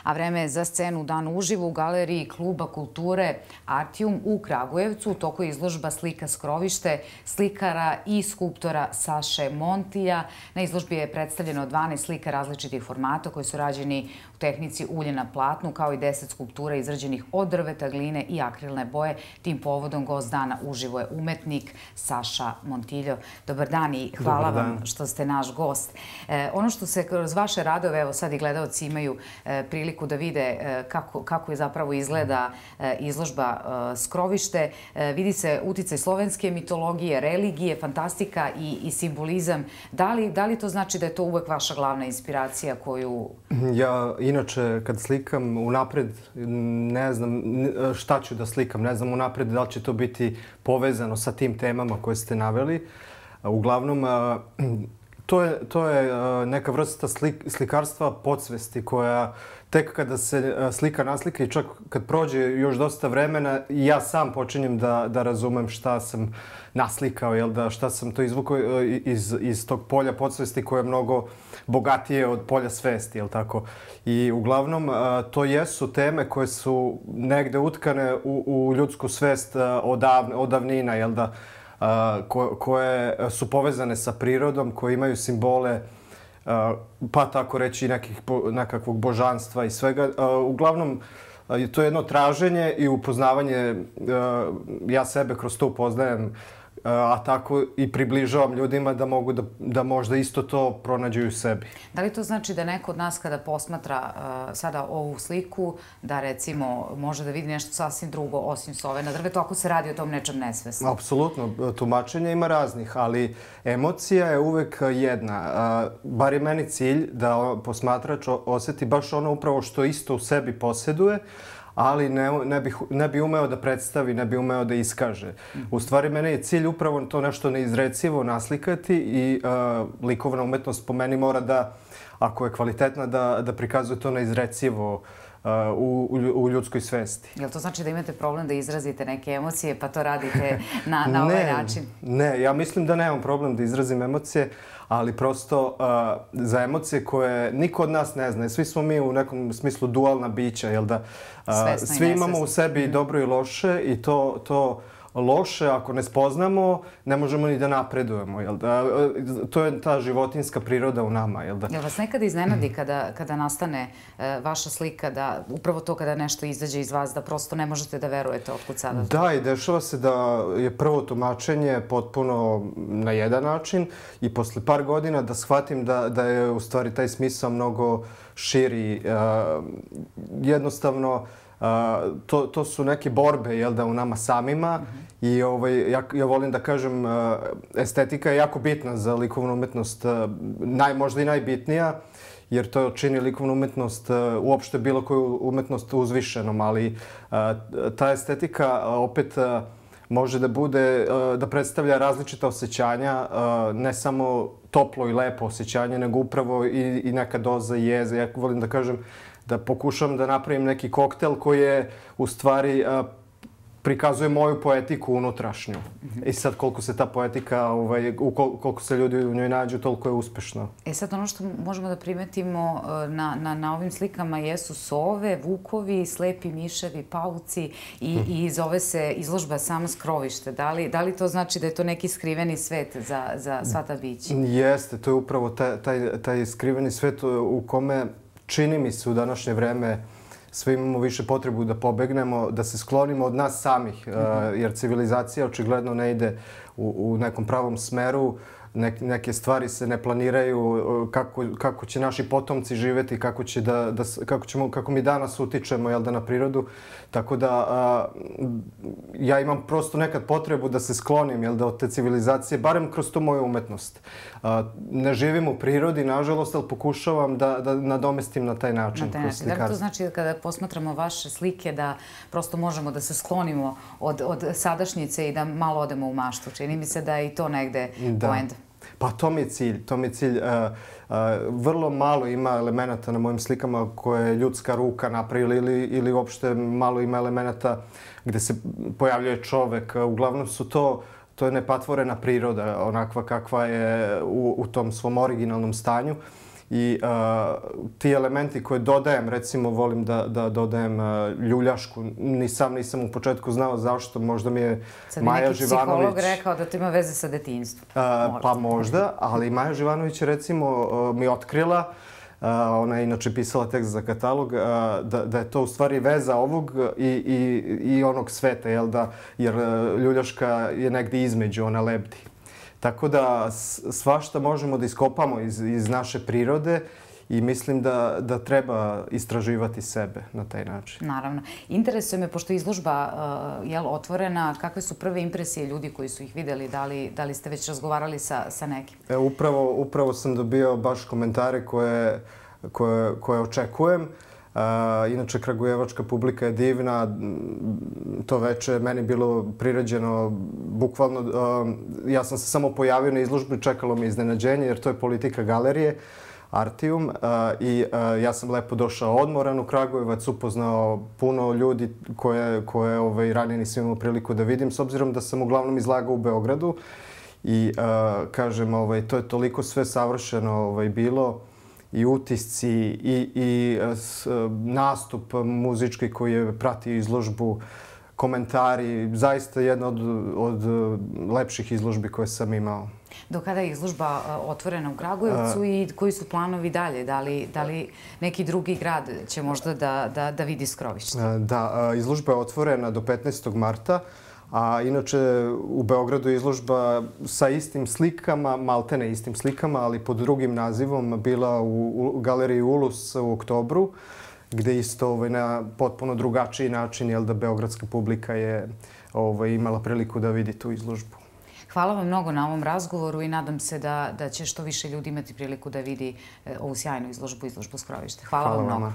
a vreme je za scenu Dan uživo u galeriji Kluba kulture Artium u Kragujevcu. U toku je izložba Slika skrovište slikara i skulptora Saše Montija. Na izložbi je predstavljeno 12 slika različitih formata koji su rađeni u tehnici ulje na platnu, kao i 10 skulptura izrađenih od drveta, gline i akrilne boje. Tim povodom gost dana uživo je umetnik Saša Montiljo. Dobar dan i hvala vam što ste naš gost. Ono što se kroz vaše radove, evo sad i gledalci imaju priliku da vide kako je zapravo izgleda izložba Skrovište. Vidi se uticaj slovenske mitologije, religije, fantastika i simbolizam. Da li to znači da je to uvek vaša glavna inspiracija koju... Ja, inače, kad slikam unapred, ne znam šta ću da slikam. Ne znam unapred da li će to biti povezano sa tim temama koje ste naveli. Uglavnom, to je neka vrsta slikarstva podsvesti koja tek kada se slika naslika i čak kad prođe još dosta vremena i ja sam počinjem da razumem šta sam naslikao, šta sam to izvukao iz tog polja podsvesti koje je mnogo bogatije od polja svesti, jel tako? I uglavnom to jesu teme koje su negde utkane u ljudsku svest od davnina, jel da? Koje su povezane sa prirodom, koje imaju simbole, pa tako reći nekakvog božanstva i svega. Uglavnom, to je jedno traženje i upoznavanje. Ja sebe kroz to upoznajem, a tako i približavam ljudima da mogu da možda isto to pronađu u sebi. Da li to znači da neko od nas kada posmatra sada ovu sliku, da recimo može da vidi nešto sasvim drugo osim sove na drvetu, ako se radi o tom nečem nesvesnom? Apsolutno. Tumačenja ima raznih, ali emocija je uvek jedna. Bar je meni cilj da posmatrač osjeti baš ono upravo što isto u sebi posjeduje, ali ne bi umeo da predstavi, ne bi umeo da iskaže. U stvari, mene je cilj upravo to nešto neizrecivo naslikati i likovna umetnost po meni mora da, ako je kvalitetna, da prikazuje to neizrecivo u ljudskoj svesti. Jel to znači da imate problem da izrazite neke emocije pa to radite na ovaj način? Ne, ja mislim da nemam problem da izrazim emocije, ali prosto za emocije koje niko od nas ne zna. Svi smo mi u nekom smislu dualna bića, jel da? Svi imamo u sebi i dobro i loše i to loše, ako ne spoznamo, ne možemo ni da napredujemo. To je ta životinjska priroda u nama. Jel vas nekada iznenadi kada nastane vaša slika, da upravo to kada nešto izađe iz vas, da prosto ne možete da verujete otkud sada? Da, i dešava se da je prvo tumačenje potpuno na jedan način i posle par godina da shvatim da je u stvari taj smisao mnogo širi. Jednostavno, to su neke borbe, jel da, u nama samima i ja volim da kažem, estetika je jako bitna za likovnu umetnost, možda i najbitnija, jer to čini likovnu umetnost, uopšte bilo koju umetnost uzvišenom, ali ta estetika opet može da bude, da predstavlja različita osjećanja, ne samo toplo i lepo osjećanje, nego upravo i neka doza jeze. Ja volim da kažem da pokušam da napravim neki koktel koji je u stvari prikazuje moju poetiku unutrašnju. I sad koliko se ta poetika, koliko se ljudi u njoj nađu, toliko je uspešno. Sad ono što možemo da primetimo na ovim slikama jesu sove, vukovi, slepi miševi, pauci i zove se izložba Samo skrovište. Da li to znači da je to neki skriveni svet za sva ta bića? Jeste, to je upravo taj skriveni svet u kome čini mi se u današnje vreme svi imamo više potrebu da pobegnemo, da se sklonimo od nas samih, jer civilizacija očigledno ne ide u nekom pravom smeru. Neke stvari se ne planiraju, kako će naši potomci živjeti, kako mi danas utičemo na prirodu. Tako da ja imam prosto nekad potrebu da se sklonim od te civilizacije, barem kroz tu moju umetnost. Ne živim u prirodi, nažalost, ali pokušavam da nadomestim na taj način. Da li to znači kada posmatramo vaše slike da prosto možemo da se sklonimo od sadašnjice i da malo odemo u maštu? Čini mi se da je i to negde poenta. Pa to mi je cilj. Vrlo malo ima elemenata na mojim slikama koje je ljudska ruka napravila ili uopšte malo ima elemenata gde se pojavljuje čovek. Uglavnom su to je nepatvorena priroda, onakva kakva je u tom svom originalnom stanju. I ti elementi koje dodajem, recimo volim da dodajem ljuljašku, ni sam nisam u početku znao zašto, možda mi je Maja Živanović... Sad je neki psiholog rekao da to ima veze sa detinjstvom. Pa možda, ali Maja Živanović je recimo mi otkrila, ona je inače pisala tekst za katalog, da je to u stvari veza ovog i onog sveta, jer ljuljaška je negdje između, ona lebdi. Tako da svašta možemo da iskopamo iz naše prirode i mislim da treba istraživati sebe na taj način. Naravno. Interesuje me, pošto je izložba otvorena, kakve su prve impresije ljudi koji su ih videli? Da li ste već razgovarali sa nekim? Upravo sam dobio baš komentare koje očekujem. Inače, kragujevačka publika je divna. To veče je meni bilo priređeno bukvalno. Ja sam se samo pojavio na izložbi, čekalo me iznenađenje jer to je politika galerije Artium i ja sam lepo došao odmoran u Kragujevac, upoznao puno ljudi koje ranije nisam imao priliku da vidim, s obzirom da sam uglavnom izlagao u Beogradu i kažem, to je toliko sve savršeno bilo, i utisci i nastup muzički koji je pratio izložbu, komentari, zaista jedna od lepših izložbi koje sam imao. Do kada je izložba otvorena u Kragujevcu i koji su planovi dalje? Da li neki drugi grad će možda da vidi skrovište? Da, izložba je otvorena do 15. marta, a inače u Beogradu je izložba sa istim slikama, maltene istim slikama, ali pod drugim nazivom, bila u galeriji Ulus u oktobru, gde isto na potpuno drugačiji način, da beogradska publika je imala priliku da vidi tu izložbu. Hvala vam mnogo na ovom razgovoru i nadam se da će što više ljudi imati priliku da vidi ovu sjajnu izložbu Skrovište. Hvala vam mnogo.